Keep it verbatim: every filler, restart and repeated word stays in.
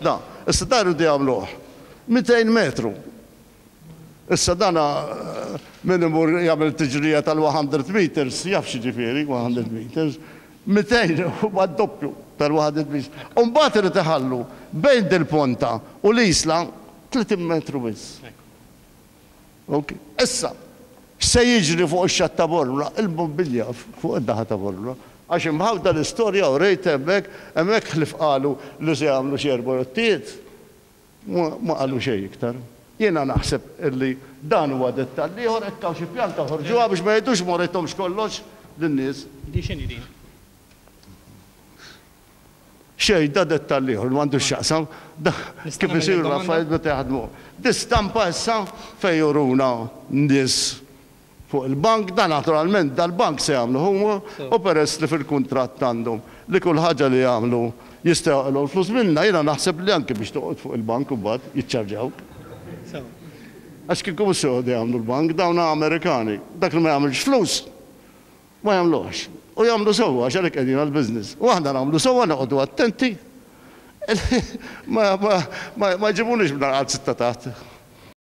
Da, issa dar iridu jagħmluh mitejn metru. Issa dana min imur jagħmel tiġrija tal-mija meters, jaf x'jiġifieri mija meters, mitejn huwa d-doppju tal-mija meters. U mbagħad irid iħallu bejn dil-ponta u l-isla tletin metru biss. Ok. Issa, x'se jiġri fuq ix-xatt ta' Bormla? Il-mobilja fuq id-daħa ta' Bormla. Għax imħawda l-istorja u rejt hemmhekk, hemmhekk ħlif qalu li se jagħmlu xi erba' jottijiet. Ma qalu xejn iktar. Jiena naħseb illi dan huwa dettall ieħor, hekk hawn xi pjanta ħorġuha biex ma jgħidux ma rejthomx kollox lin-nies. Di x'inhi din? Xejn, da dettall ieħor m'għandux x'jaqsam, da kif isiru l-affarijiet meta jaħdmu. Di stampa issa fejn juruna nies fuq il-bank, da naturalment dal-bank se jagħmlu huma, u peress li fil-kuntratt għandhom li kull ħaġa li jagħmlu jistgħu jaqilgħu l-flus minna, jiena naħseb li anke biex toqgħod fuq il-bank u mbagħad jiċċarġawk. Għax kieku mhux se joqogħdu jagħmlu l-bank, dawn Amerikani, dak li ma jagħmilx flus ma jagħmluhx. U jagħmlu sewwa għax għalhekk qegħdin għall-business. U aħna nagħmlu sewwa, noqogħdu attenti. Ma, ma, ma, ma jġibunix minn għal sitta taħt.